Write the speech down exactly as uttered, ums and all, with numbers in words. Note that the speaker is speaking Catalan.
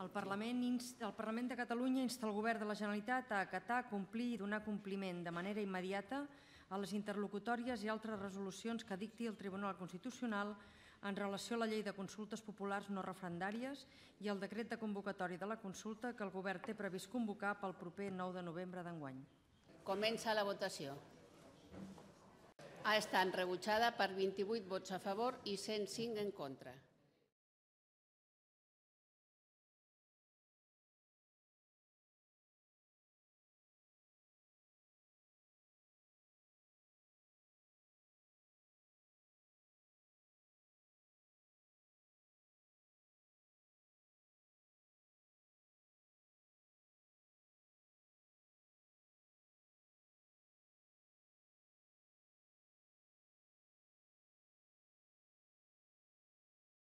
El Parlament, el Parlament de Catalunya insta el Govern de la Generalitat a acatar, complir i donar compliment de manera immediata a les interlocutòries i altres resolucions que dicti el Tribunal Constitucional en relació a la Llei de Consultes Populars no referendàries i el decret de convocatòria de la consulta que el Govern té previst convocar pel proper nou de novembre d'enguany. Comença la votació. Ha estat rebutjada per vint-i-vuit vots a favor i cent cinc en contra.